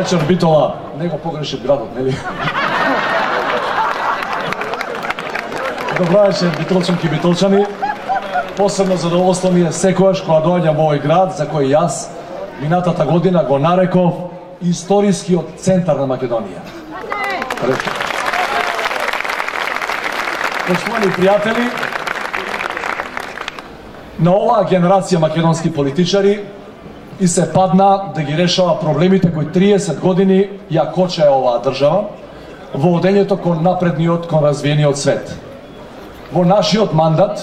вечер, Битола. Не го погреши градот, нели? Добра вечер, битолчанки и битолчани. Посебно задоволство ми е секојаш кога доаѓам во овој град, за кој јас минатата година го нареков историскиот центар на Македонија. Поштовани пријатели, на оваа генерација македонски политичари и се падна да ги решава проблемите кои 30 години ја кочае оваа држава во одењето кон напредниот, кон развиениот свет. Во нашиот мандат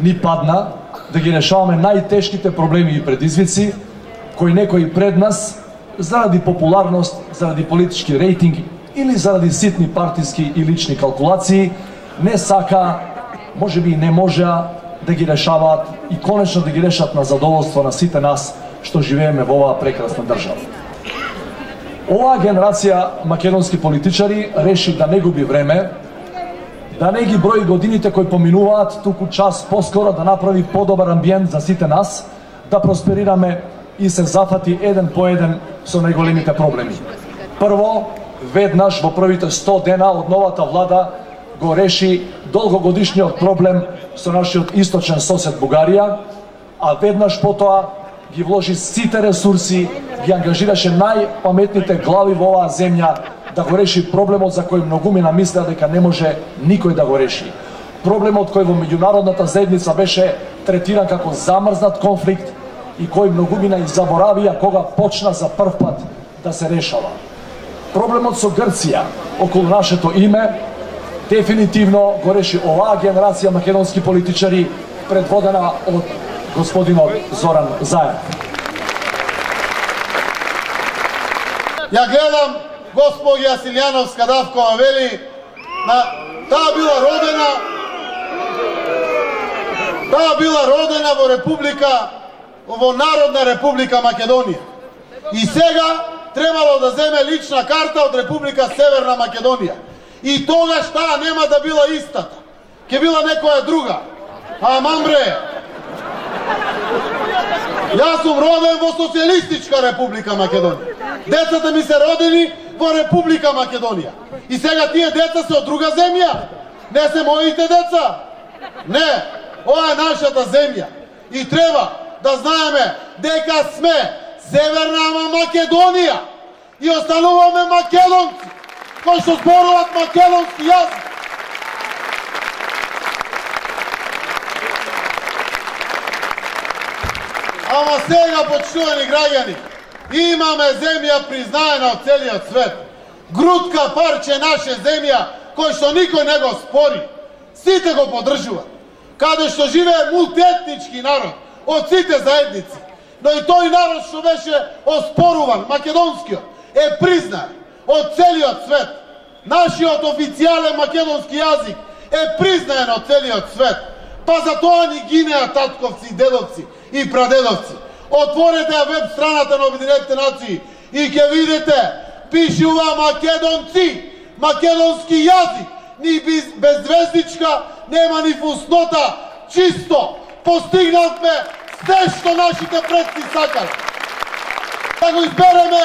ни падна да ги решаваме најтешките проблеми и предизвици кои некои пред нас, заради популарност, заради политички рейтинг или заради ситни партиски и лични калкулации, не сака, можеби и не можеа да ги решаваат и конечно да ги решат на задоволство на сите нас што живееме во оваа прекрасна држава. Оваа генерација македонски политичари реши да не губи време, да не ги брои годините кои поминуваат, туку час поскоро да направи подобар амбиент за сите нас, да просперираме и се зафати еден по еден со најголемите проблеми. Прво, веднаш во првите 100 дена од новата влада го реши долгогодишниот проблем со нашиот источен сосед Бугарија, а веднаш потоа ги вложи сите ресурси, ги ангажираше најпаметните глави во оваа земја да го реши проблемот за кој многумина мислеа дека не може никој да го реши. Проблемот кој во меѓународната заедница беше третиран како замрзнат конфликт и кој многумина и заборавија кога почна за прв пат да се решава. Проблемот со Грција околу нашето име дефинитивно го реши оваа генерација македонски политичари предводена од господинот Зоран Заев. Ја гледам госпоѓа Силјановска Давкова вели таа била родена во република, во Народна република Македонија. И сега требало да земе лична карта од Република Северна Македонија. И тогаш таа нема да била истата. Ке била некоја друга. Аман бре. Јас сум роден во Социјалистичка Република Македонија. Децата ми се родени во Република Македонија. И сега тие деца се од друга земја. Не се моите деца. Не, ова е нашата земја. И треба да знаеме дека сме Северна Македонија и остануваме македонци кои што зборуваат македонски јазик. Ама сега, почитувани граѓани, имаме земја признаена од целиот свет. Грудка парче наше земја кој што никој не го спори. Сите го поддржуваат. Каде што живее мултиетнички народ од сите заедници. Но и тој народ што беше оспоруван, македонскиот, е признат од целиот свет. Нашиот официјален македонски јазик е признаен од целиот свет. Па за тоа ни гинеа татковци, дедовци и прадедовци. Отворете ја веб страната на Обединетите нации и ќе видите, пишува македонци, македонски јазик, ни без звездичка, нема ни фуснота, чисто. Постигнавме се што нашите предци сакале. Да го избереме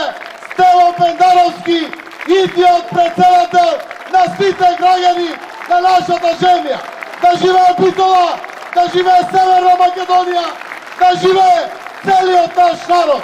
Стево Пендаровски, идиот председател на сите граѓани на нашата земја. Да живее Битола, да живее Северна Македонија, да живее целиот наш народ.